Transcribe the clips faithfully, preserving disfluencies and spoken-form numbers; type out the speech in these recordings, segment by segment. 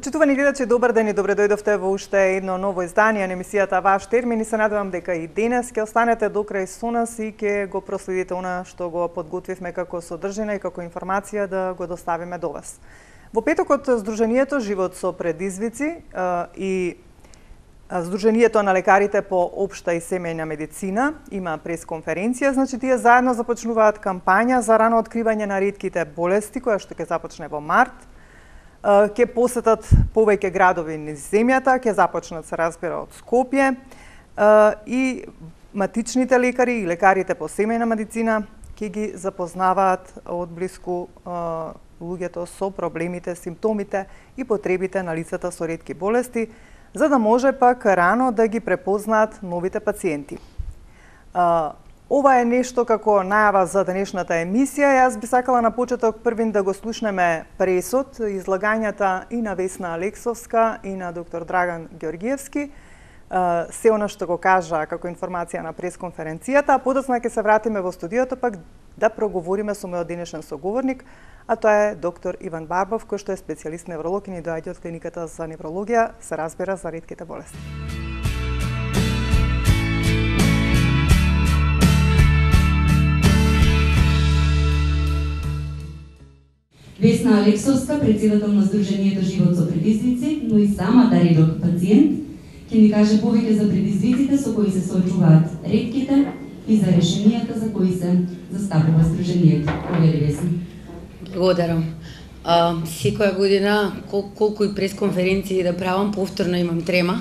Почитувани гледачи, добар ден и добре дојдовте во уште едно ново издание на емисијата Ваш термин и се надевам дека и денес ќе останете до крај со нас и ќе го проследите она што го подготвивме како содржина и како информација да го доставиме до вас. Во петокот Сдруженијето Живот со предизвици и Сдруженијето на лекарите по општа и семејна медицина има пресконференција, значи тие заедно започнуваат кампања за рано откривање на ретките болести, која што ќе започне во март. Ќе посетат повеќе градови низ земјата, ќе започнат се разбира од Скопје и матичните лекари и лекарите по семејна медицина ќе ги запознаваат од блиску луѓето со проблемите, симптомите и потребите на лицата со ретки болести, за да може пак рано да ги препознаат новите пациенти. Ова е нешто како најава за денешната емисија. Јас би сакала на почеток првин да го слушнеме пресод, излагањата и на Весна Алексовска и на доктор Драган Ѓоргиевски, се она што го кажа како информација на пресконференцијата, а подоцна ќе се вратиме во студиото пак да проговориме со мојот денешен соговорник, а тоа е доктор Иван Барбов, кој што е специјалист невролог и ни доаѓа од клиниката за неврологија, се разбира за ретките болести. Весна Алексовска, председател на Сдруженијето Живот со предизвици, но и самата редок пациент, ќе ни каже повеќе за предизвиците со кои се соочуваат ретките и за решенијата за кои се застапува Сдруженијето. Повели, Весна. Благодарам. А, секоја година, кол колку и пресконференции да правам, повторно имам трема.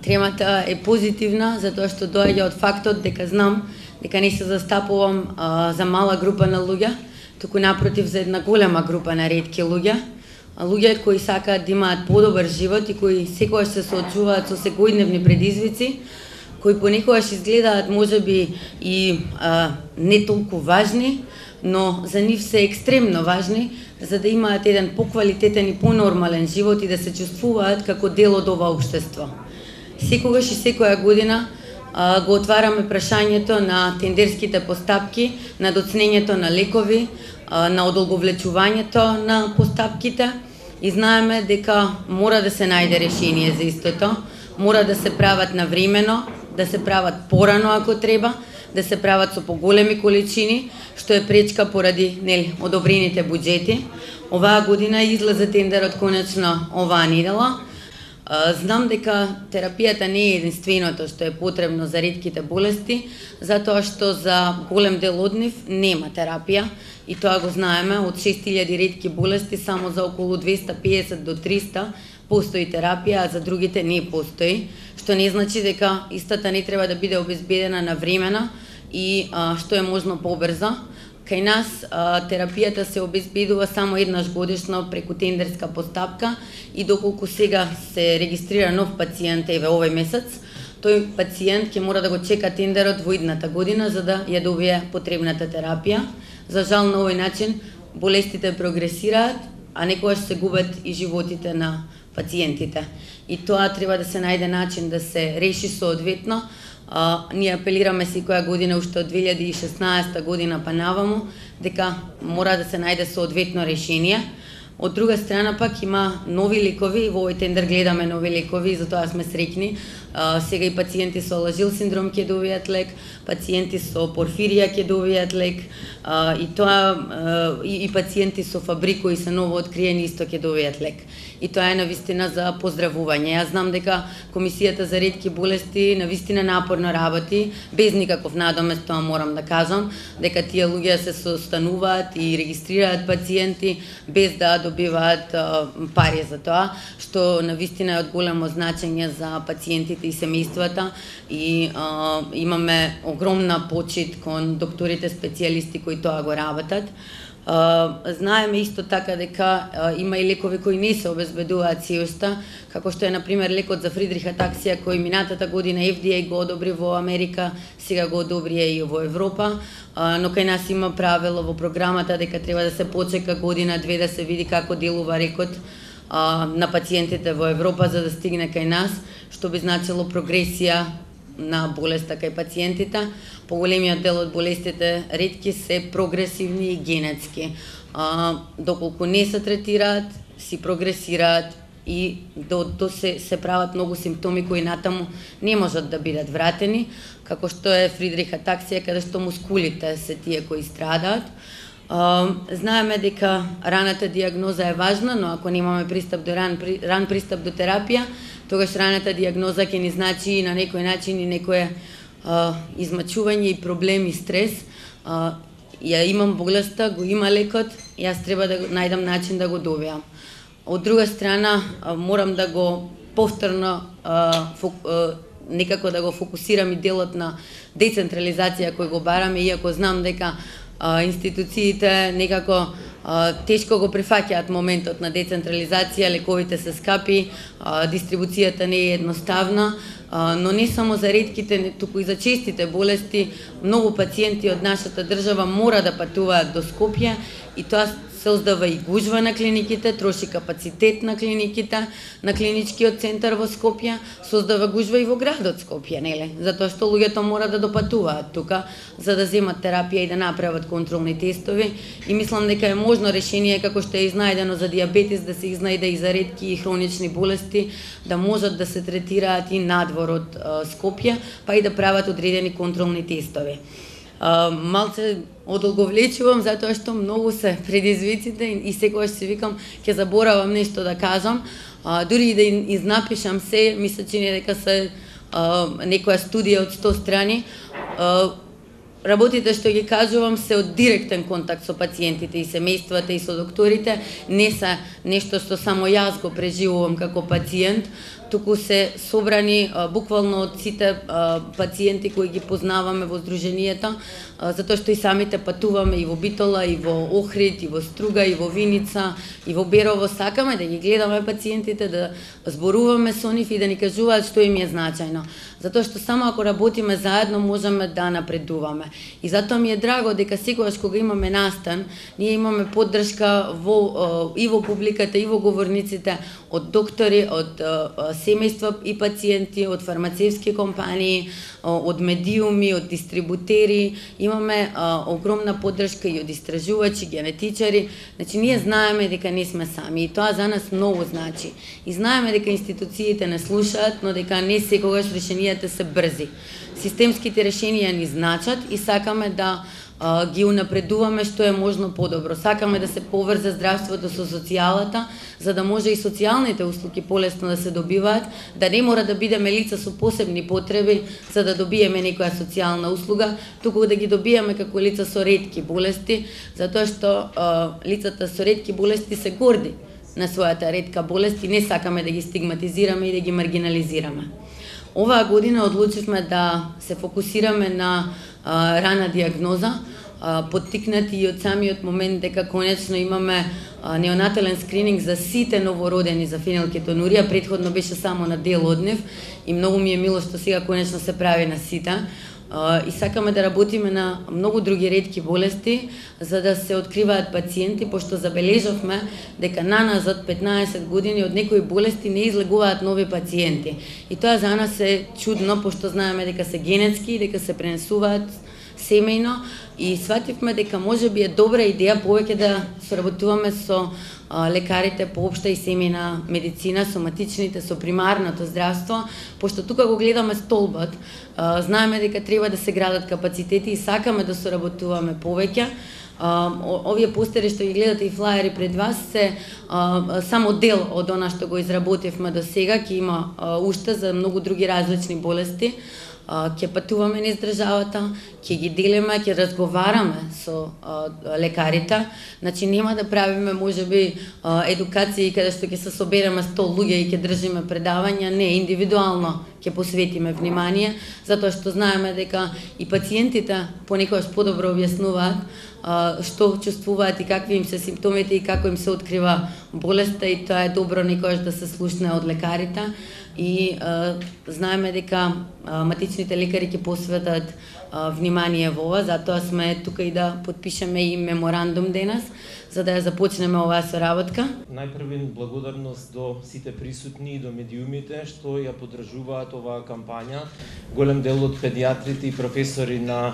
Тремата е позитивна, затоа што доаѓа од фактот дека знам дека не се застапувам а, за мала група на луѓе, туку напротив за една голема група на ретки луѓе, луѓе кои сакаат да имаат подобар живот и кои секогаш се соочуваат со секојдневни предизвици, кои понекогаш изгледаат можеби и а, не толку важни, но за нив се екстремно важни, за да имаат еден поквалитетен и понормален живот и да се чувствуваат како дел од ова општество. Секогаш и секоја година а, го отвараме прашањето на тендерските постапки, на доцнењето на лекови, а, на одолговлечувањето на постапките и знаеме дека мора да се најде решение за истото, мора да се прават навремено, да се прават порано ако треба, да се прават со поголеми количини, што е пречка поради нели одобрените буџети. Оваа година излезе тендерот конечно оваа недела. Знам дека терапијата не е единственото што е потребно за ретките болести, затоа што за голем дел од нив нема терапија и тоа го знаеме, од шест илјади ретки болести само за околу двеста и педесет до триста постои терапија, а за другите не постои, што не значи дека истата не треба да биде обезбедена навремена и а, што е можно побрзо. Кај нас а, терапијата се обезбедува само еднаш годишно преку тендерска постапка и доколку сега се регистрира нов пациент еве овој месец, тој пациент ќе мора да го чека тендерот во идната година за да ја добие потребната терапија. За жал на овој начин болестите прогресираат, а некогаш се губат и животите на пациентите. И тоа треба да се најде начин да се реши соодветно. Uh, ние апелираме секоја година уште од две илјади и шеснаесета година па наваму дека мора да се најде соодветно решение. Од друга страна пак има нови лекови, во овој тендер гледаме нови лекови и затоа сме среќни. Uh, сега и пациенти со Алажил синдром ќе добијат лек, пациенти со порфирија ќе добијат лек, uh, и тоа uh, и, и пациенти со Фабри кои се ново откриени исто ќе добијат лек. И тоа е навистина за поздравување. Јас знам дека Комисијата за ретки болести навистина напорно работи, без никаков надомест, тоа морам да кажам, дека тие луѓе се состануваат и регистрираат пациенти без да добиваат uh, пари за тоа, што навистина е од големо значење за пациентите и семејствата и а, имаме огромна почит кон докторите специјалисти кои тоа го работат. А, знаеме исто така дека а, има и лекови кои не се обезбедуваат се уште, како што е на пример лекот за Фридрих атаксија кој минатата година Ф Д А го одобри во Америка, сега го одобри и во Европа, а, но кај нас има правило во програмата дека треба да се почека година-две да се види како делува лекот на пациентите во Европа за да стигне кај нас, што би значило прогресија на болеста кај пациентите. Поголемиот дел од болестите ретки се прогресивни и генетски. А, доколку не се третираат, си прогресираат и до, до се, се прават многу симптоми кои натаму не можат да бидат вратени, како што е Фридрих атаксија, каде што мускулите се тие кои страдаат. Знаеме дека раната диагноза е важна, но ако немаме пристап до ран, ран пристап до терапија, тогаш раната диагноза ќе ни значи и на некој начин и некое а, измачување и проблем и стрес. А, ја имам болеста, го има лекот, јас треба да најдам начин да го добиам. Од друга страна, а, морам да го повторно а, фок, а, некако да го фокусирам и делот на децентрализација кој го бараме, иако знам дека а, институциите некако а, тешко го прифаќаат моментот на децентрализација, лековите се скапи, а, дистрибуцијата не е едноставна, а, но не само за ретките, туку и за честите болести, многу пациенти од нашата држава мора да патуваат до Скопје и тоа создава и гужва на клиниките, троши капацитет на клиниките, на клиничкиот центар во Скопје, создава гужва и во градот Скопје, нели? Затоа што луѓето мора да допатуваат тука за да земат терапија и да направат контролни тестови и мислам дека е можно решение како што е изнајдено за дијабетес да се изнајде и за ретки и хронични болести, да можат да се третираат и надвор од Скопје, па и да прават одредени контролни тестови. Uh, малце одолговлечувам затоа што многу се предизвиците и, и секогаш се викам ќе заборавам нешто да кажам. Uh, дури и да изнапишам се, ми се чини дека се uh, некоја студија од сто страни. Uh, Работите што ги кажувам се од директен контакт со пациентите и семејствата и со докторите, не се нешто што само јас го преживувам како пациент, туку се собрани а, буквално од сите а, пациенти кои ги познаваме во здруженијата, а, затоа што и самите патуваме и во Битола, и во Охрид, и во Струга, и во Виница, и во Берово, сакаме да ги гледаме пациентите, да зборуваме со нив и да ни кажуваат што им е значајно. Затоа што само ако работиме заедно можеме да напредуваме. И затоа ми е драго дека секогаш кога имаме настан, ние имаме поддршка во, и во публиката, и во говорниците од доктори, од семејства и пациенти, од фармацевски компании, од медиуми, од дистрибутери. Имаме а, огромна поддршка и од истражувачи, генетичари. Значи, ние знаеме дека не сме сами и тоа за нас многу значи. И знаеме дека институциите не слушаат, но дека не секогаш решенијата се брзи. Системските решенија ни значат и сакаме да а, ги унапредуваме што е можно подобро. Сакаме да се поврзе здравството со социјалата, за да може и социјалните услуги полесно да се добиваат, да не мора да бидеме лица со посебни потреби за да добиеме некоја социјална услуга, туку да ги добиеме како лица со ретки болести, затоа што а, лицата со ретки болести се горди на својата ретка болест и не сакаме да ги стигматизираме и да ги маргинализираме. Оваа година одлучивме да се фокусираме на а, рана диагноза, а, поттикнати и од самиот момент дека конечно имаме а, неонатален скрининг за сите новородени за фенилкетонурија, претходно беше само на дел од нив и многу ми е мило што сега конечно се прави на сите. Uh, и сакаме да работиме на многу други ретки болести за да се откриваат пациенти, пошто забележавме дека наназад петнаесет години од некои болести не излегуваат нови пациенти. И тоа за нас е чудно, пошто знаеме дека се генетски и дека се пренесуваат семејно и свативме дека можеби е добра идеја повеќе да соработуваме со лекарите по општа и семејна медицина, соматичните, со примарното здравство, пошто тука го гледаме столбот, знаеме дека треба да се градат капацитети и сакаме да соработуваме повеќе. Овие постери што ги гледате и флаери пред вас се само дел од она што го изработивме до сега, ќе има уште за многу други различни болести. Ќе патуваме низ државата, ќе ги делиме, ќе разговараме со а, лекарите. Значи нема да правиме можеби а, едукации каде што ќе се собереме сто луѓе и ќе држиме предавања, не, индивидуално ќе посветиме внимание, затоа што знаеме дека и пациентите понекогаш подобро објаснуваат а, што чувствуваат и какви им се симптомите и како им се открива болеста и тоа е добро некогаш да се слушне од лекарите. И а, знаеме дека а, матичните лекари ќе посветат а, внимание во ова, затоа сме тука и да подпишеме и меморандум денес, за да ја започнеме оваа соработка. Најпрвен благодарност до сите присутни и до медиумите што ја поддржуваат оваа кампања. Голем дел од педиатрите и професори на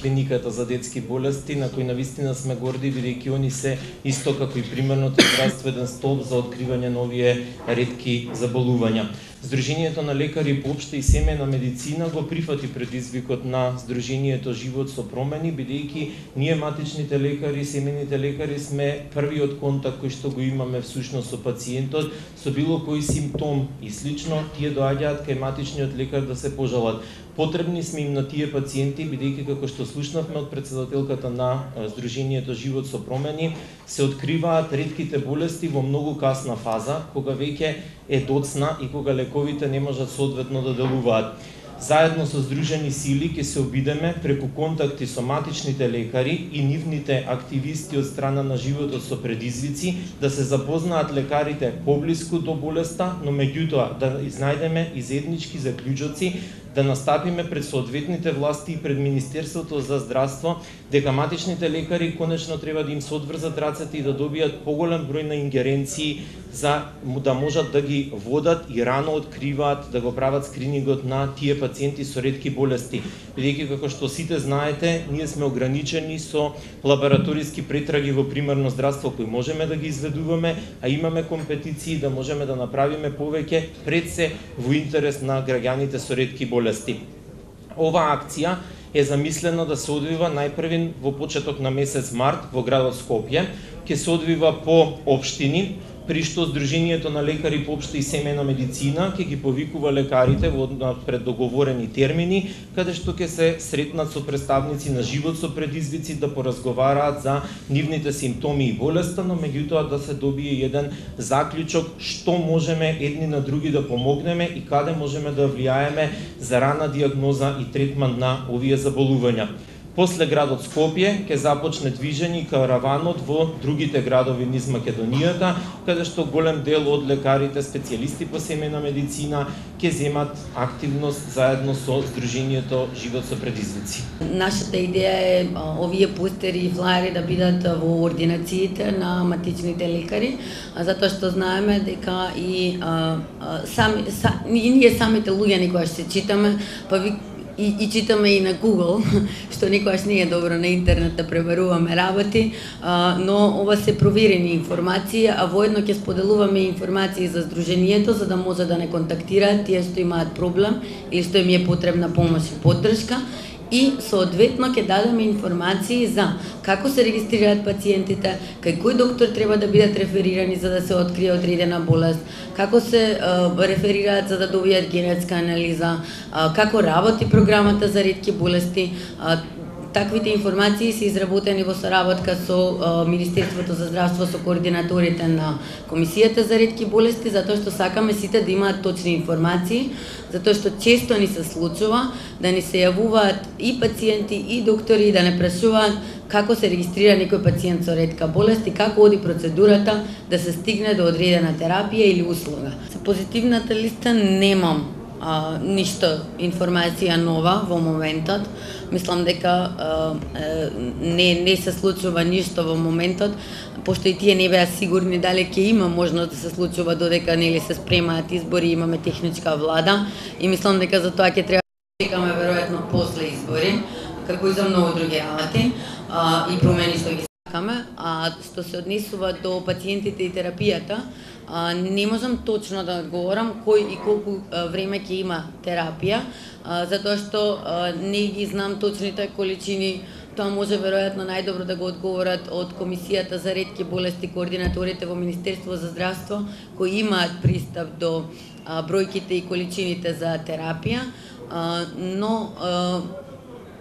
клиниката за детски болести, на кои навистина сме горди, бидејќи они се исто како и примерното здравствен столб за откривање на овие ретки заболувања. Сдруженијето на лекари по општа и семејна медицина го прифати предизвикот на Сдруженијето Живот со промени, бидејќи ние матичните лекари, семејните лекари сме првиот контакт кој што го имаме всушност со пациентот, со било кој симптом и слично, тие доаѓаат кај матичниот лекар да се пожалат. Потребни сме им на тие пациенти, бидејќи како што слушнавме од претседателката на Сдруженијето Живот со промени, се откриваат ретките болести во многу касна фаза, кога веќе е доцна и кога лековите не можат соодветно да делуваат. Заедно со Сдружени сили ќе се обидеме преку контакти со матичните лекари и нивните активисти од страна на животот со предизвици да се запознаат лекарите поблиску до болеста, но меѓутоа да изнајдеме и заеднички заклучоци, да настапиме пред соодветните власти и пред Министерството за здравство дека матичните лекари конечно треба да им се одврзат рацете и да добијат поголем број на ингеренции за да можат да ги водат и рано откриваат, да го прават скринингот на тие пациенти со ретки болести. Бидејќи како што сите знаете, ние сме ограничени со лабораториски претраги во примарно здравство кои можеме да ги изведуваме, а имаме компетиции да можеме да направиме повеќе пред се во интерес на граѓаните со ретки болести. Оваа акција е замислена да се одвива најпрвен во почеток на месец март во градот Скопје, ќе се одвива по општини, при што Сдруженијето на лекари по општа и семејна медицина ќе ги повикува лекарите во пред договорени термини, каде што ќе се сретнат со представници на Живот со предизвици да поразговараат за нивните симптоми и болеста, но меѓутоа да се добие еден заклучок што можеме едни на други да помогнеме и каде можеме да влијаеме за рана диагноза и третман на овие заболувања. После градот Скопје ќе започне движење и караванот во другите градови низ Македонијата, каде што голем дел од лекарите специјалисти по семејна медицина ќе земат активност заедно со Сдруженијето Живот со предизвици. Нашата идеја е овие постери и флаери да бидат во ординациите на матичните лекари, затоа што знаеме дека и а, а, сами са, и ние самите луѓе некогаш се читаме, па ви И, и читаме и на Google, што никогаш не е добро на интернет да пребаруваме работи, а, но ова се проверени информации, а воедно ќе споделуваме информации за Сдруженијето, за да може да не контактираат тие што имаат проблем или што им е потребна помош и поддршка. И соодветно ќе дадеме информации за како се регистрираат пациентите, кај кој доктор треба да бидат реферирани за да се открие одредена болест, како се а, реферираат за да добијат генетска анализа, а, како работи програмата за ретки болести. А, Таквите информации се изработени во соработка со а, Министерството за здравство, со координаторите на Комисијата за ретки болести, затоа што сакаме сите да имаат точни информации, затоа што често ни се случува да ни се јавуваат и пациенти и доктори да не прашуваат како се регистрира некој пациент со ретка болест и како оди процедурата да се стигне до одредена терапија или услуга. За позитивната листа немам а, ништо информација нова во моментот. Мислам дека а, не не се случува ништо во моментот, пошто и тие не беа сигурни дали ќе има можност да се случува додека нели се спремаат избори, имаме техничка влада и мислам дека за тоа ќе треба да чекаме веројатно после избори, како и за многу други работи а, и промени што ги сакаме. А што се однесува до пациентите и терапијата, а, не можам точно да одговорам кој и колку а, време ќе има терапија, а, затоа што а, не ги знам точните количини. Тоа може веројатно најдобро да го одговорат од Комисијата за ретки болести, координаторите во Министерство за здравство, кои имаат пристап до а, бројките и количините за терапија, а, но а,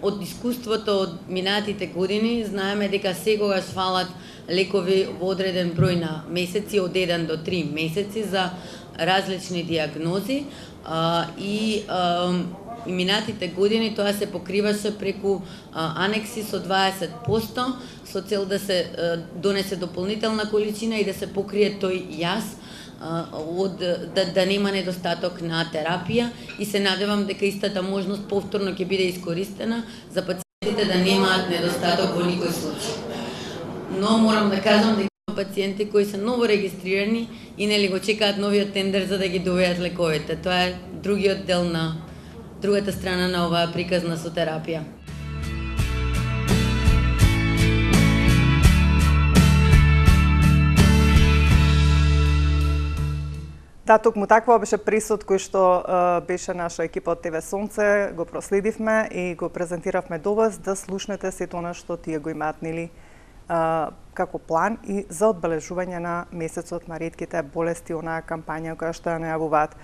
од искуството од минатите години знаеме дека секогаш фалат лекови во одреден број на месеци, од еден до три месеци за различни диагнози а, и а, и минатите години тоа се покриваше преку а, анекси со дваесет проценти со цел да се а, донесе дополнителна количина и да се покрие тој јас а, од да, да нема недостаток на терапија и се надевам дека истата можност повторно ќе биде искористена за пациентите да немаат недостаток во никој случај. но морам да кажам дека пациенти кои се ново регистрирани и нели го чекаат новиот тендер за да ги добијат лековите. Тоа е другиот дел на другата страна на оваа приказна со терапија. Да, токму таква беше присуд кој што uh, беше наша екипа од ТВ Сонце, го проследивме и го презентиравме до вас да слушнете сето она што тие го имаат нели Uh, како план и за одбележување на месецот на ретките болести, онаа кампања која што ја најавуваат.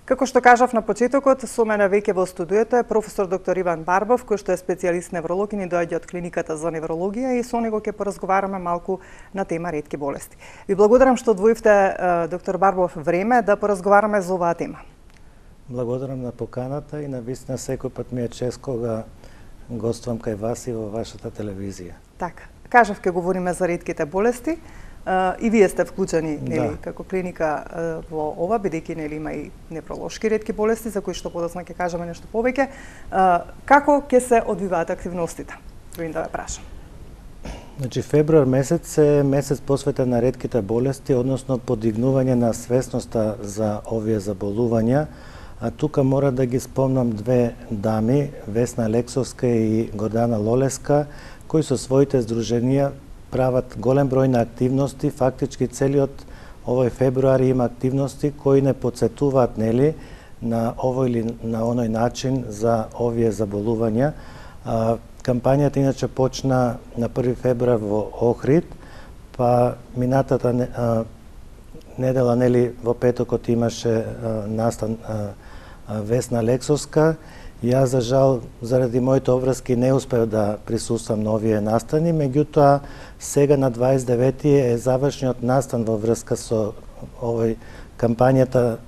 Како што кажав на почетокот, со мене веќе во студиото е професор доктор Иван Барбов, кој што е специјалист невролог и ни доаѓа од клиниката за неврологија и со него ќе поразговараме малку на тема ретки болести. Ви благодарам што одвоивте, uh, доктор Барбов, време да поразговараме за оваа тема. Благодарам на поканата и навистина секој пат ми е чест кога гоствам кај вас и во вашата телевизија. Така. Кажав, ке говориме за ретките болести, uh, и вие сте вклучени нели, да. како клиника uh, во ова, бидејќи нели има и невролошки ретки болести, за кои што подоцна ќе кажеме нешто повеќе. Uh, како ќе се одвиваат активностите? Трудам да ве прашам. Значи, февруар месец е месец посветен на ретките болести, односно подигнување на свесноста за овие заболувања. А тука мора да ги спомнам две дами, Весна Алексовска и Гордана Лолеска, кои со своите здруженија прават голем број на активности. Фактички целиот овој февруари има активности кои не потсетуваат нели на овој или на оној начин за овие заболувања. А, кампањата иначе почна на први февруар во Охрид, па минатата а, недела нели во петокот имаше а, настан а, а, Весна Алексовска. Јас, за жал, заради моите обврски не успеав да присуствам на овие настани, меѓутоа сега на дваесет и девети е завршниот настан во врска со овој кампањата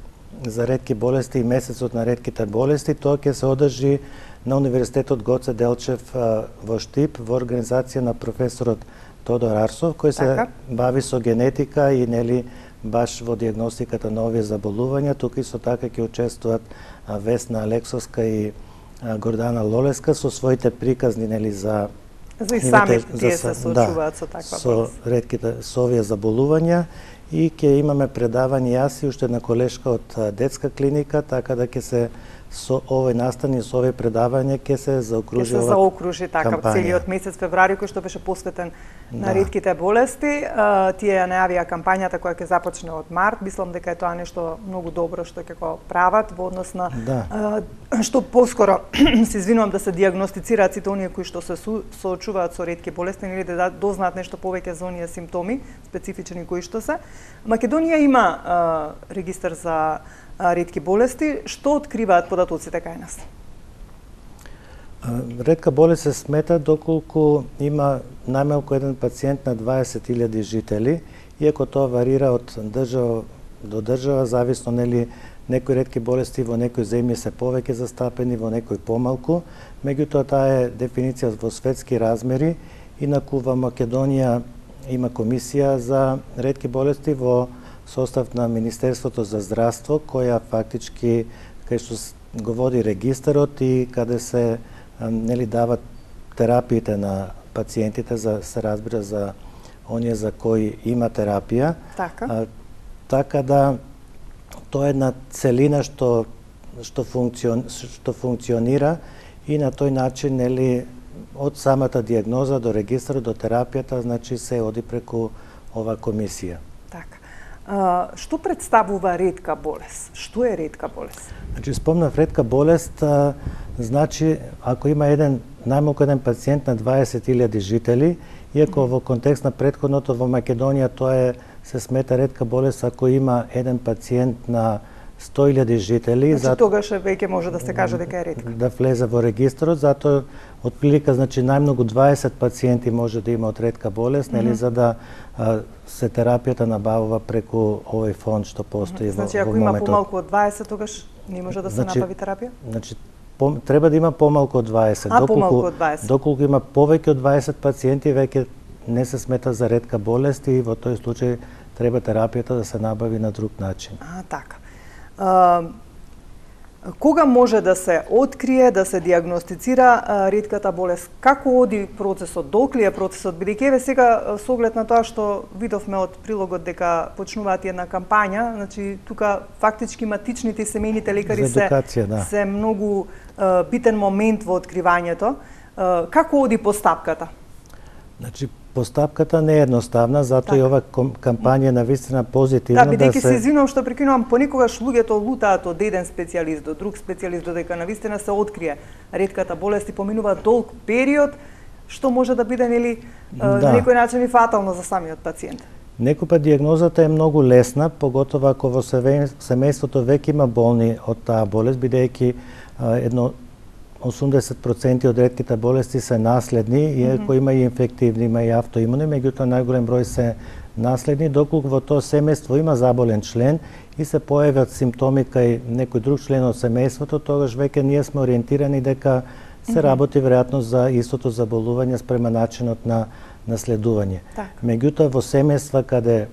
за ретки болести и месецот на ретките болести. Тоа ќе се одржи на Универзитетот Гоце Делчев во Штип во организација на професорот Тодор Арсов, кој се така бави со генетика и нели баш во дијагностиката на овие заболувања. Тука исто така ќе учествуваат Весна Алексовска и Гордана Лолеска со своите приказни нели за за и сами тие се соочуваат со таква болест. Со ретките со овие заболувања и ќе имаме предавање јас и уште една колешка од детска клиника, така да ќе се со овој настан и со овие предавање ќе се заокружи ова се заокружи така целиот месец февруари кој што беше посветен да. на ретките болести. А, тие ја најавија кампањата која ќе започне од март. Мислам дека е тоа нешто многу добро што ќе го прават во однос на да. а, што поскоро се извинувам да се дијагностицираат сите оние кои што се соочуваат со ретки болести или да дознаат нешто повеќе за оние симптоми специфични кои што се. Македонија има а, регистар за ретки болести. Што откриваат податоците кај нас? Ретка болест се смета доколку има најмалку еден пациент на дваесет илјади жители, иако тоа варира од држава до држава, зависно нели некои ретки болести во некои земји се повеќе застапени, во некои помалку, меѓутоа таа е дефиниција во светски размери. Инаку во Македонија има комисија за ретки болести во состав на Министерството за здравство, која фактички кај што го води регистарот и каде се нели дават терапиите на пациентите, за се разбира за оние за кои има терапија. Така. А, така да тоа е една целина што што функцион што функционира и на тој начин нели од самата дијагноза до регистарот до терапијата, значи се оди преку ова комисија. Така. А, што представува ретка болест? Што е ретка болест? Значи, спомнав ретка болест, а, значи, ако има еден, најмалку еден пациент на дваесет илјади жители, иако mm -hmm. во контекст на претходното во Македонија тоа е, се смета ретка болест ако има еден пациент на сто илјади жители. Значи, зато, тогаш веќе може да се каже дека е ретка. Да влезе во регистарот, затоа отприлика, значи, најмногу дваесет пациенти може да има од ретка болест, нели, mm -hmm. за да а, се терапијата набавува преку овој фонд што постои mm -hmm. значи, во, во моментот. Значи, ако има помалку од дваесет, тогаш не може да се значи, набави терапија? Значи, по, треба да има помалку од дваесет. А, доколку, помалку од дваесет. Доколку има повеќе од дваесет пациенти, веќе не се смета за ретка болест и во тој случај треба терапијата да се набави на друг начин. А, така. А, Кога може да се открие, да се диагностицира ретката болест? Како оди процесот? Долг ли е процесот? Бидејќи еве сега со оглед на тоа што видовме од прилогот дека почнуваат една кампања, значи тука фактички матичните и семејните лекари се да. се многу uh, битен момент во откривањето. Uh, како оди постапката? Значи постапката не е едноставна, затоа така. И ова кампања на вистина позитивна да, бидејќи да се... се извинувам што прекинувам, понекогаш луѓето лутаат од еден специјалист до друг специјалист додека на вистина се открие ретката болест и поминува долг период, што може да биде нели да. На некој начин и фатално за самиот пациент. Некој диагнозата е многу лесна, поготово ако во семејството веќе има болни од таа болест, бидејќи едно осумдесет проценти од ретките болести се наследни, иако mm -hmm. има и инфективни, има и автоимуни, меѓутоа најголем број се наследни, доколку во тоа семејство има заболен член и се појават симптоми кај некој друг член од семејството, тогаш веќе ние сме ориентирани дека се mm -hmm. работи веројатно за истото заболување спрема начинот на наследување. Так. Меѓутоа во семејства каде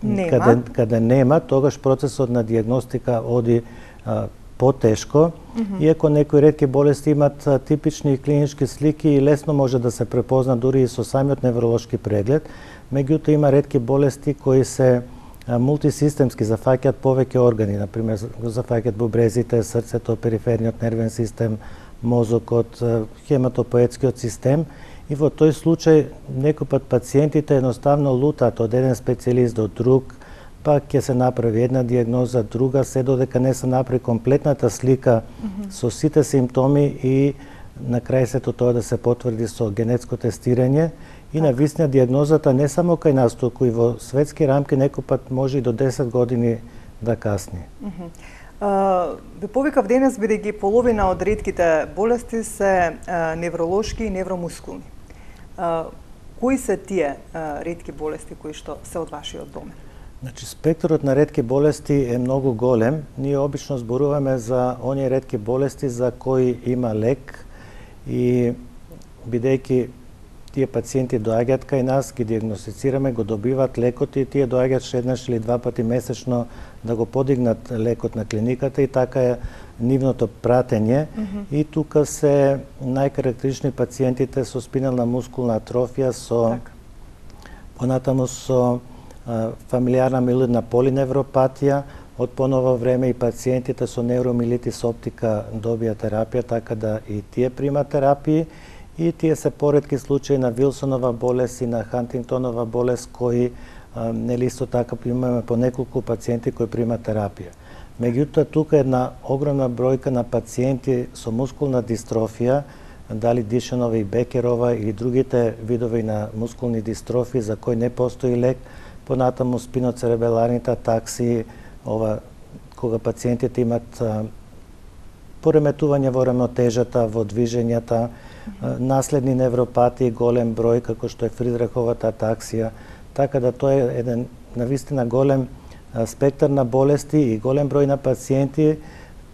нема. каде каде нема, тогаш процесот на диагностика оди а, потешко, mm -hmm. иако некои ретки болести имат типични клинички слики и лесно може да се препозна дури и со самиот невролошки преглед, меѓутоа има ретки болести кои се мултисистемски, зафаќаат повеќе органи, например зафаќаат бубрезите, срцето, периферниот нервен систем, мозокот, хематопоетскиот систем, и во тој случај некој пат пациентите едноставно лутаат од еден специјалист до друг, па ќе се направи една диагноза, друга, се додека не се направи комплетната слика mm -hmm. со сите симптоми и на крај сето тоа да се потврди со генетско тестирање. И на вистина диагнозата не само кај нас, туку и во светски рамки некој пат може и до десет години да касни. Mm -hmm. Ве повикав денес бидејќи половина од ретките болести се uh, невролошки и невромускулни. Uh, кои се тие uh, ретки болести кои што се од вашиот домен? Значи, спектрот на ретки болести е многу голем. Ние обично зборуваме за оние ретки болести за кои има лек и бидејќи тие пациенти доаѓаат кај нас, ги диагностицираме, го добиваат лекот и тие доаѓаат еднаш или два пати месечно да го подигнат лекот на клиниката и така е нивното пратење. Mm -hmm. И тука се најкарактеристични пациентите со спинална мускулна атрофија, со так. Понатаму со фамилиарна милоидна полиневропатија, од поново време и пациентите со невромилитис оптика добија терапија, така да и тие примат терапии, и тие се поретки случаи на Вилсонова болест и на Хантингтонова болест кои нели исто така имаме по неколку пациенти кои примат терапија. Меѓутоа тука е една огромна бројка на пациенти со мускулна дистрофија, дали Дишанова и Бекерова или другите видови на мускулни дистрофии за кои не постои лек, понатаму спиноцеребеларните атакси, ова кога пациентите имат а, пореметување во рамотежата, во движењата, а, наследни невропатии, голем број како што е Фридриховата атаксија, така да тоа е еден навистина голем а, спектар на болести и голем број на пациенти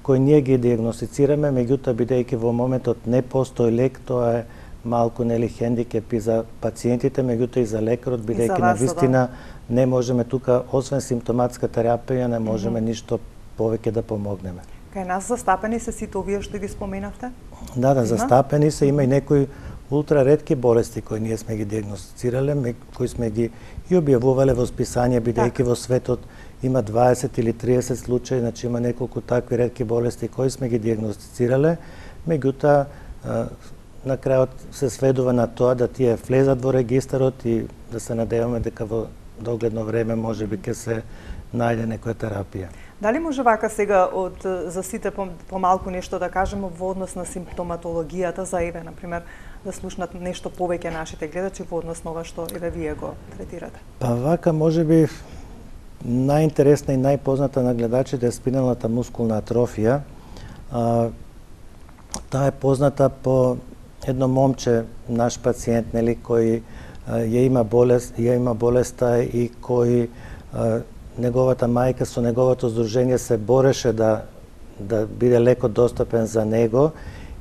кои ние ги диагностицираме, меѓутоа бидејќи во моментот не постои лек, тоа е малку нели хендикеп и за пациентите, меѓутоа и за лекарот, бидејќи навистина не можеме тука, освен симптоматска терапија, не можеме mm -hmm. ништо повеќе да помогнеме. Кај нас застапени се сите овие што ги споменавте? Да, да, застапени се, има и некои ултра ретки болести кои ние сме ги диагностицирале, кои сме ги и објавувале во списање, бидејќи так. Во светот има дваесет или триесет случаи, значи има неколку такви ретки болести кои сме ги диагностицирале, меѓутоа на крајот се сведува на тоа да тие влезат во регистарот и да се надеваме дека во догледно време може би ќе се најде некоја терапија. Дали може вака сега од за сите помалку нешто да кажеме во однос на симптоматологијата за еве на пример да слушнат нешто повеќе нашите гледачи во однос на ова што еве вие го третирате? Па вака можеби најинтересна и најпозната на гледачите е спиналната мускулна атрофија. А, таа е позната по едно момче, наш пациент, нели, кој а, ја има болест, ја има болеста и кој а, неговата мајка со неговото здружение се бореше да да биде леко достапен за него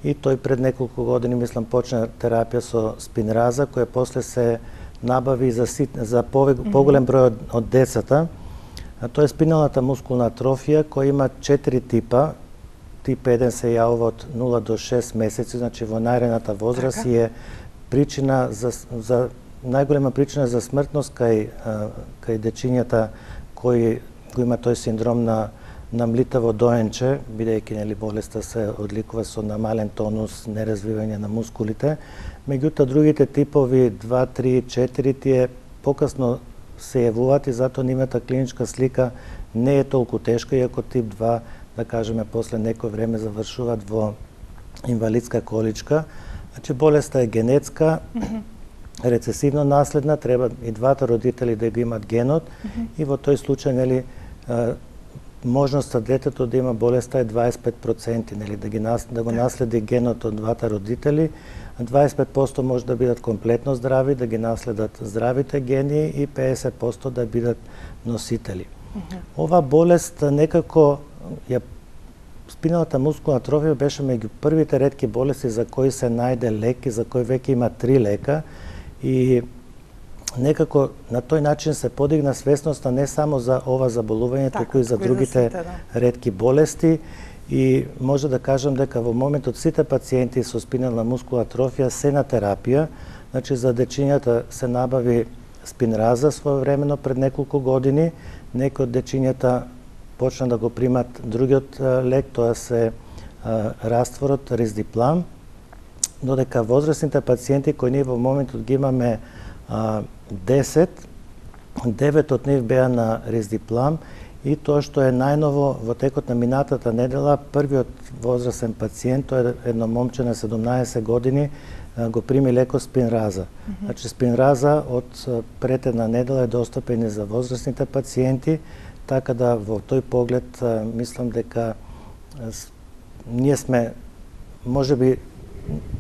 и тој пред неколку години мислам почна терапија со спинраза која после се набави за сит, за поголем број од, од децата. А тоа е спиналната мускулна атрофија која има четири типа. тип еден се јавува од нула до шест месеци, значи во најраната возраст и е причина за, за најголема причина за смртност кај кај дечињата кои го има тој синдром на на млитаво доенче, бидејќи нели болеста се одликува со намален тонус, неразвивање на мускулите. Меѓутоа другите типови два, три, четири тие покасно се јавуваат и затоа нивната клиничка слика не е толку тешка, иако тип два, да кажеме, после некој време завршуваат во инвалидска количка. Значи болеста е генетска, рецесивно наследна, треба и двата родители да го имат генот и во тој случај нели можноста детето да има болеста е дваесет и пет проценти, нели да ги нас, да го наследи генот од двата родители. дваесет и пет проценти може да бидат комплетно здрави, да ги наследат здравите гени и педесет проценти да бидат носители. Uh-huh. Ова болест некако ја спиналната мускулна атрофија беше меѓу првите ретки болести за кои се најде лек и за кои веќе има три лека и некако на тој начин се подигна свесноста не само за ова заболување, туку и за другите да. ретки болести и може да кажам дека во моментот сите пациенти со спинална мускулна атрофија се на терапија, значи за дечињата се набави спинраза своевремено пред неколку години, некои од дечињата почна да го примат другиот лек, тоа се а, растворот Риздиплам, додека возрастните пациенти кои ние во моментот ги имаме а, десет, девет од нив беа на Риздиплам и тоа што е најново во текот на минатата недела, првиот возрастен пациент, тоа е едно момче на седумнаесет години, го прими леко Спинраза. Mm-hmm. Значи Спинраза од пред една недела е достапен и за возрастните пациенти, така да во тој поглед мислам дека ние сме можеби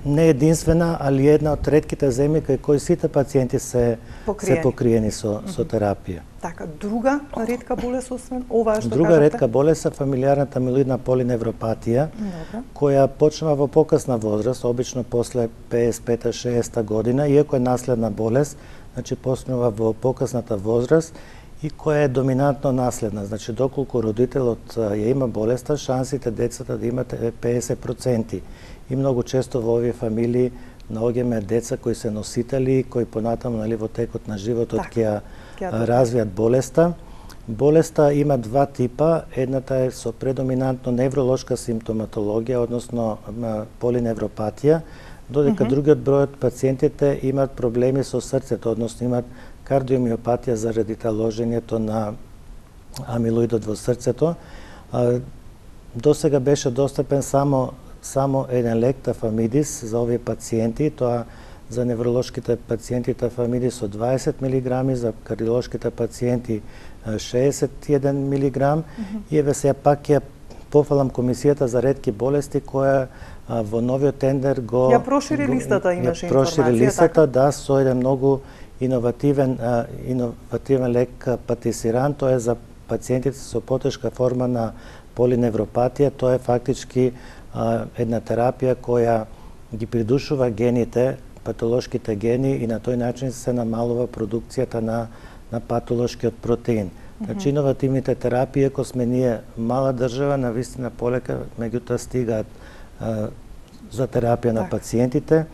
не единствена, али една од ретките земји кај кои сите пациенти се покриени, се покриени со, mm-hmm. со терапија. Така, друга ретка болест освен ова што друга кажете? ретка болест е фамилиарната амилоидна полиневропатија, Добре. која почнува во покасна возраст, обично после педесет и пета шеесетта година, иако е наследна болест, значи почнува во покасната возраст и која е доминантно наследна. Значи, доколку родителот ја има болеста, шансите децата да имат е педесет проценти. И многу често во овие фамилии наоѓаме деца кои се носители, кои понатаму нали, во текот на животот ќе развијат болеста. Болеста има два типа. Едната е со предоминантно невролошка симптоматологија, односно полиневропатија, додека mm-hmm. другиот број од пациентите имат проблеми со срцето, односно имат кардиомиопатија заради таложењето на амилоидот во срцето. До сега беше достапен само само еден лек тафамидис за овие пациенти, тоа за невролошките пациенти тафамидис со дваесет милиграми, за кардиолошките пациенти шеесет и еден милиграм. Mm-hmm. И еве сега пак ја пофалам Комисијата за ретки болести која а, во новиот тендер го ја прошири листата, имаше ја прошири информација, листата, така? да, со еден многу иновативен а, иновативен лек патисиран, тоа е за пациентите со потешка форма на полиневропатија, тоа е фактички а, една терапија која ги придушува гените, патолошките гени и на тој начин се намалува продукцијата на на патолошкиот протеин. Mm-hmm. Значи иновативните терапии, ако сме ние мала држава, навистина полека меѓутоа стигаат а, за терапија на пациентите.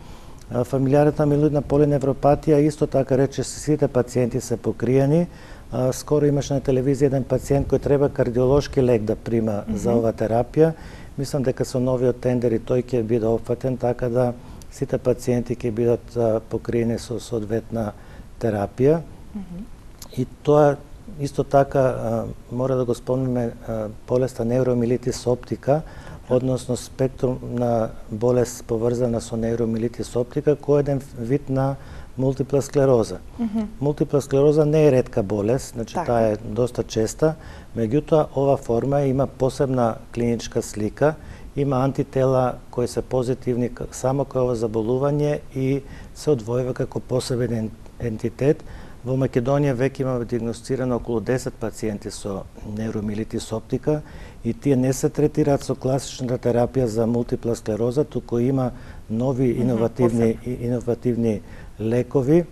А, фамилиарната амилоидна полиневропатија исто така рече сите пациенти се покриени. А, скоро имаше на телевизија еден пациент кој треба кардиолошки лек да прима mm-hmm. за ова терапија. Мислам дека со новиот тендер и тој ќе биде опфатен, така да сите пациенти ќе бидат а, покриени со соодветна терапија. Mm-hmm. И тоа исто така а, мора да го спомнеме а, болеста невромилитис оптика, односно спектрум на болест поврзана со невромилитис оптика, кој е еден вид на мултипла склероза. Mm-hmm. Мултипла склероза не е ретка болест, значи така. Таа е доста честа, меѓутоа ова форма има посебна клиничка слика, има антитела кои се позитивни само кај ова заболување и се одвојува како посебен ентитет. Во Македонија веќе имаме диагностирано околу десет пациенти со невромилитис оптика и тие не се третираат со класичната терапија за мултипла склероза, туку има нови иновативни mm-hmm, иновативни лекови.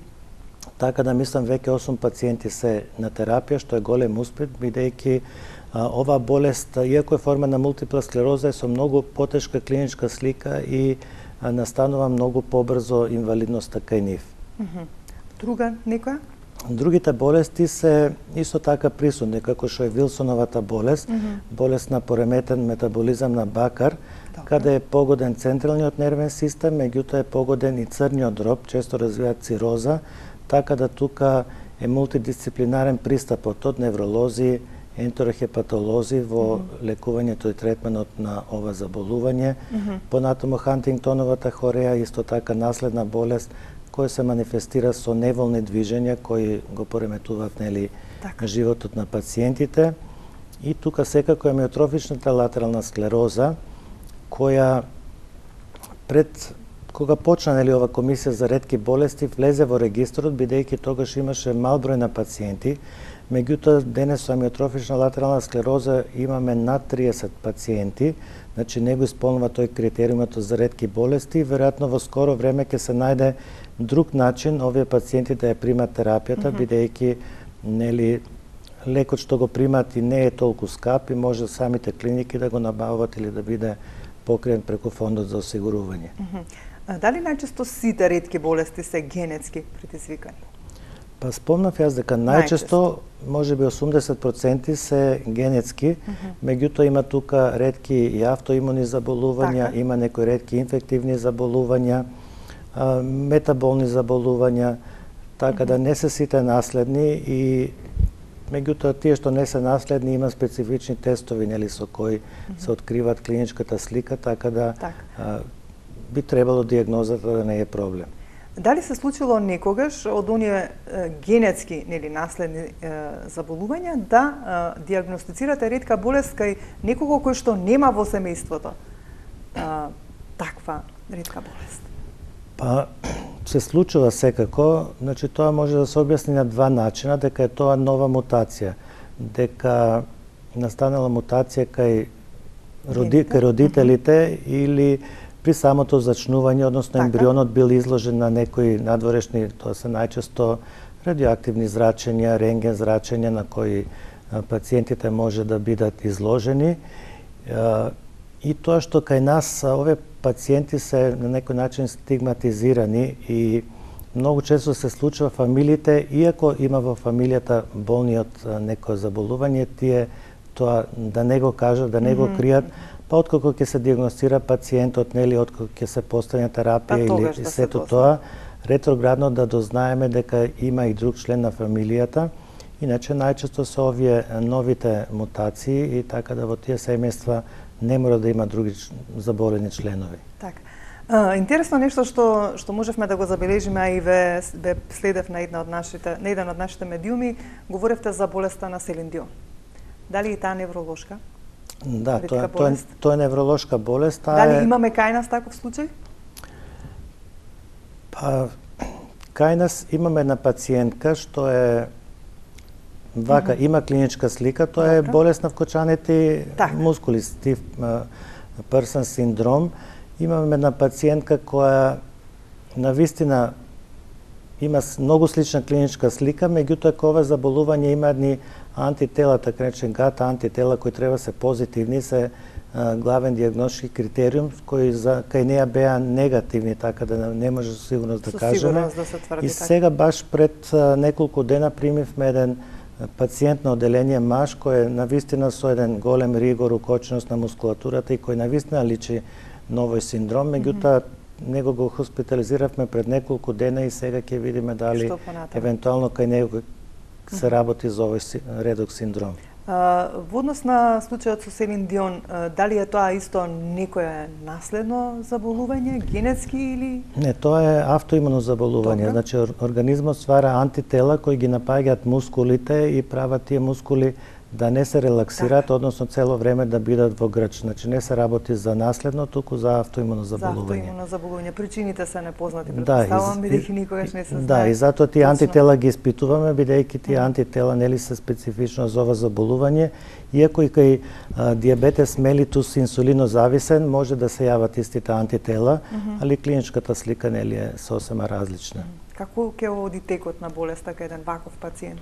Така да мислам веќе осум пациенти се на терапија, што е голем успех, бидејќи ова болест, иако е форма на мултипла склероза, е со многу потешка клиничка слика и настанува многу побрзо инвалидноста кај нив. Друга некоја? Другите болести се исто така присутни, како што е Вилсоновата болест, mm -hmm. болест на пореметен метаболизам на бакар, Добре. Каде е погоден централниот нервен систем, меѓутоа е погоден и црниот дроб, често развиваат цироза, така да тука е мултидисциплинарен пристапот од невролози, ентерохепатолози во mm -hmm. лекувањето и третманот на ова заболување. Mm -hmm. Понатаму Хантингтоновата хореја, исто така наследна болест, кој се манифестира со неволни движења кои го пореметуваат нели така. Животот на пациентите. И тука секако е амиотрофичната латерална склероза, која пред кога почна нели ова комисија за ретки болести влезе во регистрот, бидејќи тогаш имаше мал број на пациенти. Меѓутоа денес со амиотрофична латерална склероза имаме над триесет пациенти, значи не го исполнува тој критериумот за ретки болести. Веројатно во скоро време ќе се најде друг начин овие пациенти да ја примат терапијата, mm -hmm. бидејќи нели лекот што го примат и не е толку скап и може самите клиники да го набават или да биде покриен преку фондот за осигурување. Mm -hmm. Дали најчесто сите ретки болести се генетски предизвикани? Па спомнав јас дека најчесто, можеби осумдесет проценти се генетски, mm -hmm. меѓутоа има тука ретки и автоимуни заболувања, така. Има некои ретки инфективни заболувања, метаболни заболувања, така mm -hmm. да не се сите наследни и меѓутоа тие што не се наследни има специфични тестови нели со кои mm -hmm. се откриваат клиничката слика, така да так. а, би требало дијагнозата да не е проблем. Дали се случило некогаш од оние е, генетски нели наследни е, заболувања да е, дијагностицирате ретка болест кај некого кој што нема во семејството е, таква ретка болест? Па се случува секако, значи тоа може да се објасни на два начина, дека е тоа нова мутација, дека настанала мутација кај роди, кај родителите mm -hmm. или при самото зачнување, односно така. Ембрионот бил изложен на некои надворешни, тоа се најчесто радиоактивни зрачења, рентген зрачења на кои пациентите може да бидат изложени. И тоа што кај нас овие пациенти се на некој начин стигматизирани и многу често се случува фамилиите, иако има во фамилијата болни од некој заболување, тие тоа да не го кажат, да не го кријат, па откако ќе се дијагностира пациентот, нели, откако ќе се постави терапија па, или да сето тоа, ретроградно да дознаеме дека има и друг член на фамилијата. Иначе најчесто се овие новите мутации и така да во тие семејства не мора да има други заболени членови. Така. А, интересно нешто што што можевме да го забележиме, а и ве, ве следев на една од нашите на еден од нашите медиуми, говоревте за болеста на Селин Дион. Дали и таа невролошка? Да, тоа, тоа, е, тоа е невролошка болест. Дали е... имаме кај нас таков случај? Па, кај нас имаме една пациентка што е вака, mm -hmm. има клиничка слика, тоа е болест на вкочаните мускули, стив пърсън синдром. Имаме една пациентка која навистина има многу слична клиничка слика, меѓутоа кога ова заболување има едни антитела, така речен гата антитела кои треба се позитивни, се а, главен дијагностички критериум кои за кај неа беа негативни, така да не може со сигурност да кажеме. Да се тврди, и сега баш пред а, неколку дена примивме еден пациент на оделение маж кој е навистина со еден голем ригор, укоченост на мускулатурата и кој навистина личи на овој синдром, меѓутоа него го хоспитализиравме пред неколку дена и сега ќе видиме дали евентуално кај него се работи за овој редок синдром. А, во однос на случајот со Селин Дион, дали е тоа исто некое наследно заболување, генетски или? Не, тоа е автоимуно заболување. Добре. Значи организмот ствара антитела кои ги напаѓаат мускулите и прават тие мускули да не се релаксираат, така. Односно цело време да бидат во грч. Значи не се работи за наследно, туку за автоимуно заболување. За автоимуно заболување. Причините се непознати, претпоставувам, да, бидејќи никогаш не се знае. Да, и затоа тие антитела ги испитуваме, бидејќи тие антитела нели се специфично за ова заболување, иако и кај а, диабетес мелитус инсулинозависен може да се јават истите антитела, mm -hmm. али клиничката слика нели е сосема различна. Како ќе оди текот на болеста кај еден ваков пациент?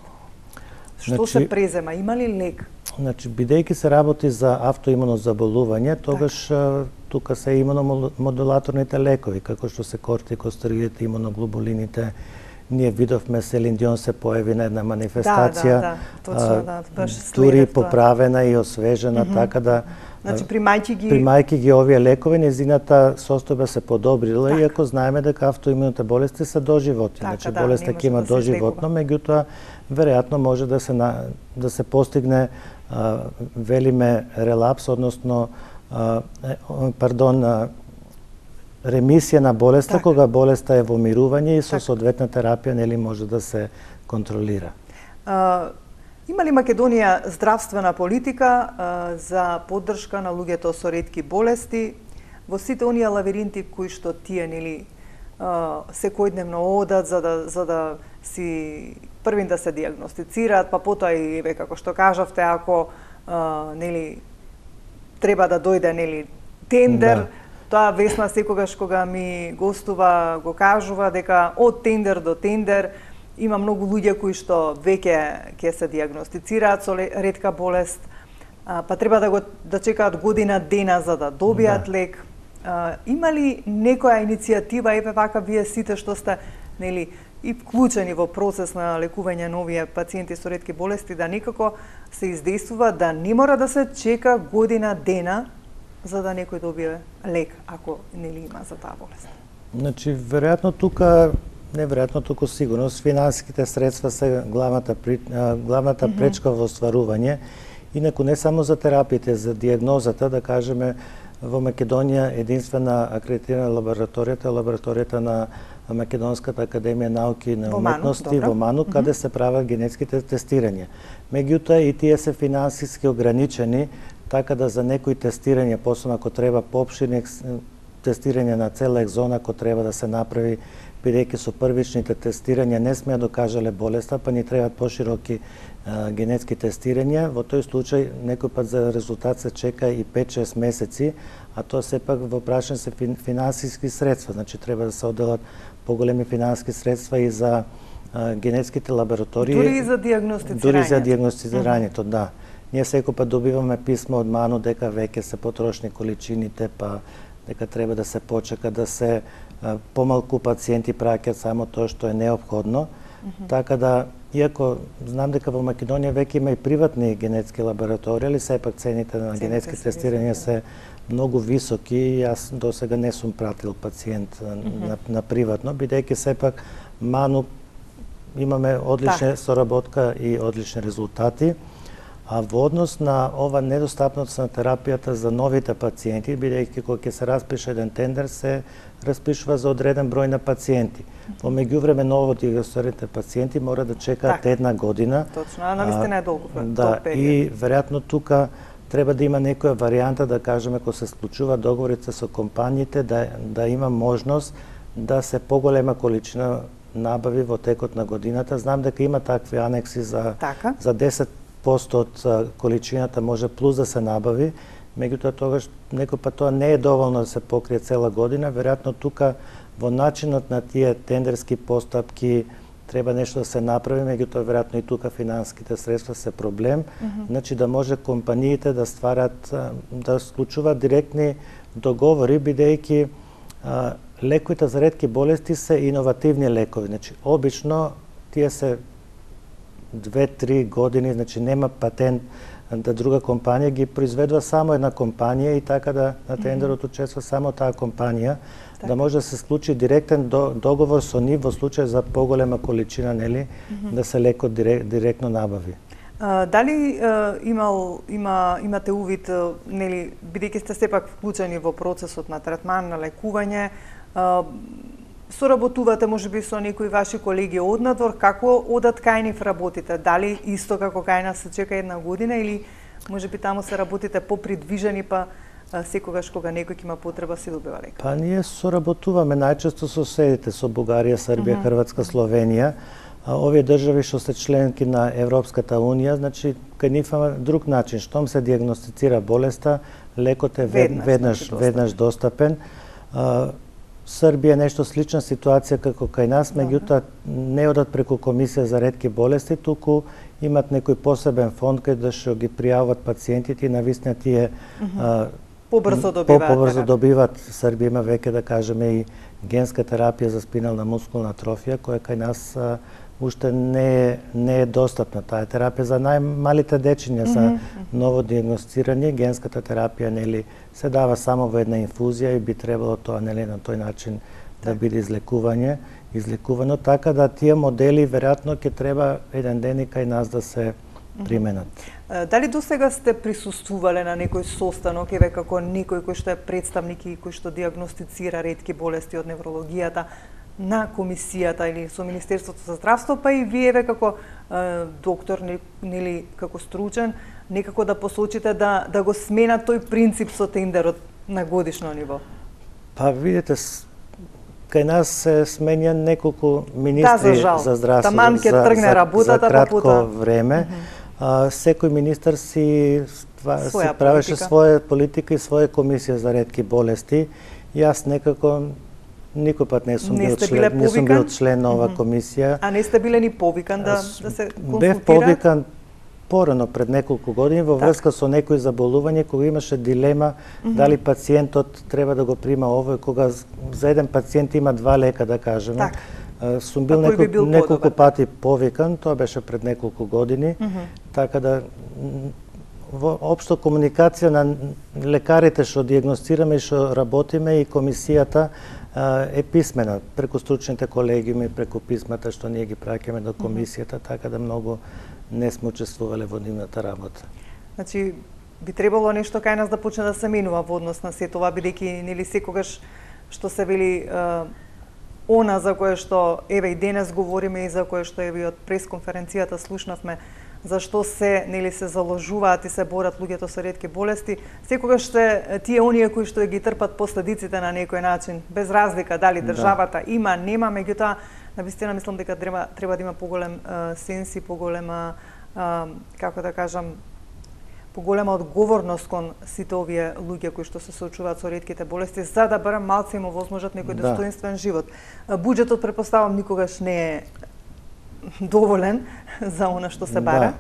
Што значи, се презема? Има ли лек? Значи, бидејќи се работи за автоимуно заболување, тогаш так. тука се имуномодулаторните лекови, како што се кортикостероидите, имуноглобулините. Ние видовме Селин Дион се појави на една манифестација, да, да, да, точно, да, дури поправена и освежена, mm -hmm. така да Значи, примајќи ги... примајќи ги овие лекови, незината состојба се подобрила, так. Иако знаеме дека автоимуните болести се доживотни. Така, значи, да, болеста ќе има да доживотно, меѓутоа, веројатно може да се, на, да се постигне, а, велиме, релапс, односно, а, пардон, а, ремисија на болеста, така. Кога болеста е во мирување и со така. Соодветна терапија нели може да се контролира. А, има ли Македонија здравствена политика а, за поддршка на луѓето со ретки болести во сите оние лавиринти кои што тие нели а, секојдневно одат за да за да си првин да се диагностицираат, па потоа и еве како што кажавте, ако а, нели треба да дојде нели тендер, да. Тоа Весна секогаш кога ми гостува го кажува дека од тендер до тендер има многу луѓе кои што веќе ќе се диагностицираат со ретка болест, па треба да го да чекаат година дена за да добијат да. лек. Има ли некоја иницијатива, еве вака вие сите што сте нели и вклучени во процес на лекување на овие пациенти со ретки болести, да некако се издействува да не мора да се чека година дена за да некој добие лек, ако нели има за таа болест? Значи, веројатно тука, не веројатно, туку сигурно, финансиските средства се главната, главната mm -hmm. пречка во остварување. Инаку не само за терапиите, за диагнозата, да кажеме, во Македонија единствена акредитирана лабораторијата, лабораторијата на Македонската академија науки и на уметности во Ману, каде mm -hmm. се прават генетските тестирања. Меѓутоа и тие се финансиски ограничени, така да за некои тестирања, посебно ако треба поопширни тестирање на цела екзона, ако треба да се направи, бидејќи со првичните тестирања не сме ја докажале болеста, па ни требаат пошироки а, генетски тестирања. Во тој случај некој пат за резултат се чека и пет-шест месеци, а тоа сепак во прашање се фин, финансиски средства, значи треба да се одделат поголеми финансиски средства и за а, генетските лаборатории. Дури и за диагностицирањето. Дури за диагностицирањето, mm -hmm. да. Ние секој пат добиваме писмо од Ману дека веќе се потрошни количините, па дека треба да се почека, да се а, помалку пациенти праќаат само тоа што е неопходно. Mm -hmm. Така да, иако знам дека во Македонија веќе има и приватни генетски лаборатории, али сепак цените на генетски тестирања се многу високи и јас досега не сум пратил пациент mm -hmm. на, на приватно, бидејќи сепак Ману имаме одлична да. соработка и одлични резултати. А во однос на ова недостапност на терапијата за новите пациенти, бидејќи кога ќе се распише еден тендер, се распишува за одреден број на пациенти. Во меѓувреме ново диагностираните пациенти мора да чекаат так. една година. Точно, а навистина е долго. Да, и веројатно тука треба да има некоја варијанта, да кажеме, кога се склучува договорите со компаниите, да, да има можност да се поголема количина набави во текот на годината. Знам дека има такви анекси за, така. за десет проценти од количината може плюс да се набави, меѓутоа тогаш некој пат тоа не е доволно да се покрие цела година. Веројатно тука во начинот на тие тендерски постапки треба нешто да се направи, меѓутоа веројатно и тука финансиските средства се проблем. Mm -hmm. Значи да може компаниите да стварат, да склучуваат директни договори, бидејќи лековите за ретки болести се иновативни лекови. Значи обично тие се две-три години, значи нема патент да друга компанија ги произведува само една компанија и така да на тендерот учества само таа компанија, так. да може да се склучи директен договор со нив во случај за поголема количина, нели, mm -hmm. да се лекот директ, директно набави. А, дали а, имал има имате увид, нели, бидејќи сте сепак вклучени во процесот на третман, на лекување, а, соработувате можеби со некои ваши колеги од надвор, како одат кај нив работите? Дали исто како кај нас се чека една година или можеби таму се работите попридвижени, па секогаш кога некој има потреба се добива лек? Па ние соработуваме најчесто со соседите, со Бугарија, Србија, mm -hmm. Хрватска, Словенија. Овие држави што се членки на Европската унија, значи кај нив има друг начин, штом се диагностицира болеста, лекот е веднаш веднаш, веднаш достапен. Србија е нешто слична ситуација како кај нас, меѓутоа не одат преку Комисија за ретки болести, туку имат некој посебен фонд кај да што ги пријавуваат пациентите и навистина тие mm -hmm. побрзо добиваат. Побрзо добиваат. Србија има веќе, да кажеме, и генска терапија за спинална мускулна атрофија, која кај нас а, уште не е, не е достапна. Таа терапија за најмалите дечиња, за mm -hmm. ново диагностирани. Генската терапија, нели, се дава само во една инфузија и би требало тоа, нели, на тој начин да биде излекување, излекувано, така да тие модели веројатно ќе треба еден ден и кај нас да се применат. Дали досега сте присуствувале на некој состанок, еве како некој кој што е представник и кој што диагностицира ретки болести од неврологијата на комисијата или со Министерството за здравство, па и вие еве како е, доктор, нели како стручен, некако да посочите да да го смена тој принцип со тендерот на годишно ниво? Па видите, кај нас се сменја неколку министри да, за, за здравство Таман ќе тргне работата, за кратко па време. Mm -hmm. а, секој министар си, това, си правеше политика. своја политика и своја комисија за ретки болести. Јас некако никој пат не сум не бил член, не сум бил член на ова mm -hmm. комисија. А не сте биле ни повикан да, да се консултираат? Бев повикан порано пред неколку години во врска со некои заболување, кога имаше дилема mm -hmm. дали пациентот треба да го прима ово, кога за еден пациент има два лека, да кажеме. Так. Сум бил, неколку, би бил неколку пати повикан, тоа беше пред неколку години, mm -hmm. така да во општо комуникација на лекарите што диагностираме и што работиме и комисијата е писмена преку стручните колегиуми, преку писмата што ние ги праќаме до комисијата, mm -hmm. така да многу не сме учествувале во нивната работа. Значи, би требало нешто кај нас да почне да се менува во однос на се тоа, бидејќи нели секогаш што се вели е, она за кое што еве и денес говориме и за кое што еве од пресконференцијата слушнавме, зашто се нели се заложуваат и се борат луѓето со ретки болести, секогаш се тие оние кои што ги трпат последиците на некој начин, без разлика дали државата да. има, нема, меѓутоа навистина мислам дека треба треба да има поголем а, сенс и поголема а, како да кажам поголема одговорност кон сите овие луѓе кои што се соочуваат со ретките болести, за да барем малце им овозможат некој да. достоинствен живот. Буџетот претпоставам никогаш не е доволен за она што се бара. Да.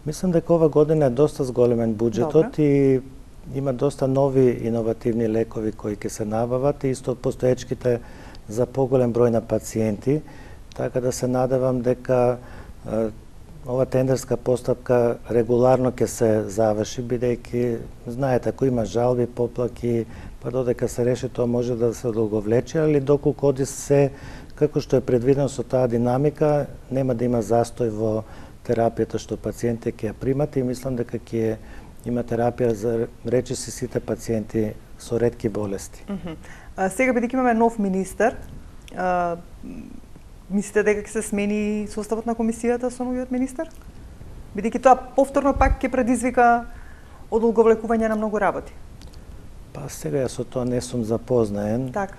Мислам дека ова година е доста зголемен буџетот Добре. и има доста нови иновативни лекови кои ќе се набават и исто постоечките за поголем број на пациенти, така да се надевам дека е, ова тендерска постапка регуларно ќе се заврши, бидејќи знаете, ако има жалби, поплаки, па додека се реши тоа може да се одолговлече, али доколку оди се како што е предвидено со таа динамика, нема да има застој во терапијата што пациентите ќе ја примат и мислам дека ќе има терапија за речиси сите пациенти со ретки болести. Mm -hmm. а, сега бидејќи имаме нов министер, а, мислите дека ќе се смени составот на комисијата со новиот министер? Бидејќи тоа повторно пак ќе предизвика одолговлекување на многу работи. Па сега ја со тоа не сум запознаен. Така.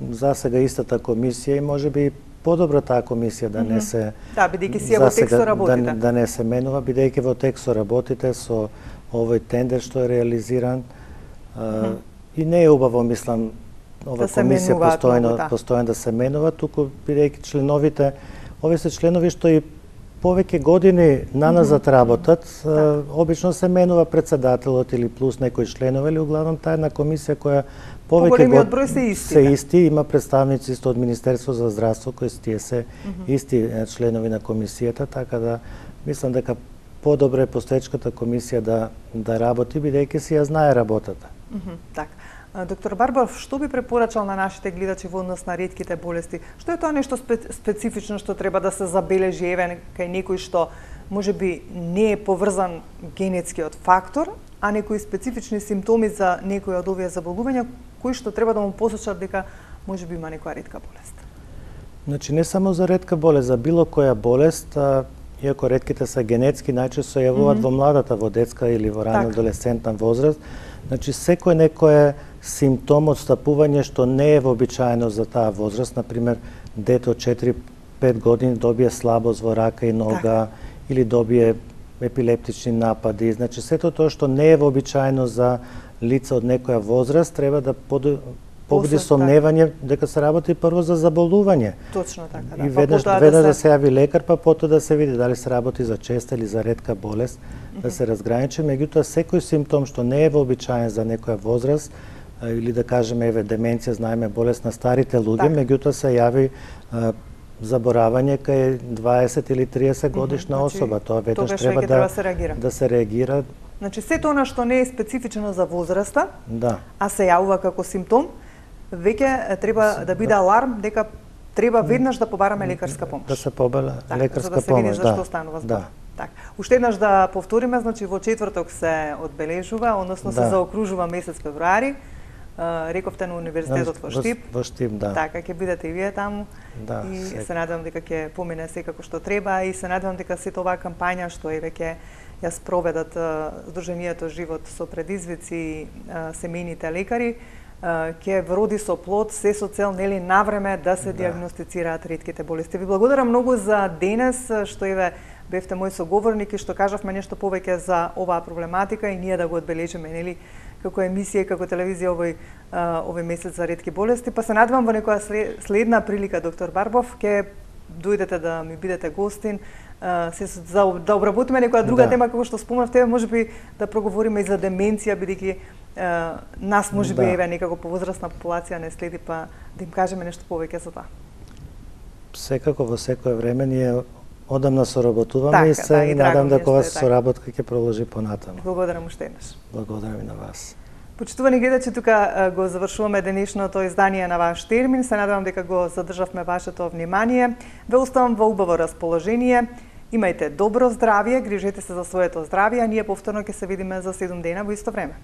За сега истата комисија и можеби подобро таа комисија да не се да, бидејќи си во тексто работите. Да, да не се менува, бидејќи во тексто работите со овој тендер што е реализиран. Mm -hmm. И не е убаво, мислам, ова да комисија постојано, да. постојано да се менува, туку бидејќи членовите, овие се членови што и повеќе години наназад работат, mm -hmm. обично се менува председателот или плюс некои членови, или углавном таа една комисија која повеќе год се исти, се исти, има представници исто од Министерство за здравство кои тие се mm -hmm. исти членови на комисијата, така да мислам дека подобро е постоечката комисија да да работи бидејќи си ја знае работата. Mm -hmm. Така. Доктор Барбаров, што би препорачал на нашите гледачи во однос на ретките болести? Што е тоа нешто специфично што треба да се забележи еве кај некој што можеби не е поврзан генетскиот фактор, а некои специфични симптоми за некои од овие заболувања кои што треба да му посочат дека можеби има некоја ретка болест? Значи не само за ретка болест, за било која болест, а, иако ретките се генетски, најчесто се јавуваат mm -hmm. во младата, во детска или во рано адолесцентна возраст. Значи секој некој симптом од стапување што не е вообичаено за таа возраст, например дете од четири-пет години добие слабост во рака и нога так. или добие епилептични напади, значи сето тоа што не е вообичаено за лица од некоја возраст треба да побуди сомневање дека се работи прво за заболување. Точно така, да. И веднаш, па веднаш да се... се јави лекар, па потоа да се види дали се работи за честа или за ретка болест, mm -hmm. да се разграничи. Меѓутоа, секој симптом што не е вообичаен за некоја возраст, или да кажеме, еве, деменција, знаеме, болест на старите луѓе, так. Меѓутоа се јави а, заборавање кај дваесет или триесет годишна mm -hmm. особа. Тоа веднаш треба да, треба се реагира. да се реагира. Значи, сето она што не е специфично за возраста, да. а се јавува како симптом, веќе треба да биде аларм дека треба веднаш да побараме лекарска помош. Да се побара так, лекарска за да се помош, види да. зашто станува збор. Да. Так. Уште еднаш да повториме, значи во четврток се одбележува, односно да. се заокружува месец февруари. Uh, рековте на универзитетот во Штип. Во Штип, да. Така, ќе бидете и вие таму. Да, и сек... се надевам дека ќе помине секако што треба и се надевам дека сето оваа кампања што е веќе ја спроведат uh, Сдруженијето Живот со предизвици uh, семејните лекари, uh, ќе вроди со плод, се со цел нели навреме да се да. диагностицираат ретките болести. Ви благодарам многу за денес што еве бевте мој соговорник и што кажавме нешто повеќе за оваа проблематика и ние да го одбележиме нели како емисија и како телевизија овој овој месец за ретки болести, па се надевам во некоја следна прилика, доктор Барбов, ќе дојдете да ми бидете гостин, се за да обработиме некоја друга да. тема како што спомнавте, можеби да проговориме и за деменција, бидејќи нас можеби да. еве некако повозрастна популација не следи, па да им кажеме нешто повеќе за тоа. Секако во секое време ние одамна соработуваме така, и се да, и надам дека оваа така. соработка ќе продолжи понатаму. Благодарам уште еднаш. Благодарам и на вас. Почитувани гледачи, тука го завршуваме денешното издание на Ваш термин. Се надевам дека го задржавме вашето внимание. Ве оставам во убаво расположение. Имајте добро здравје, грижете се за своето здравје, а ние повторно ќе се видиме за седум дена во исто време.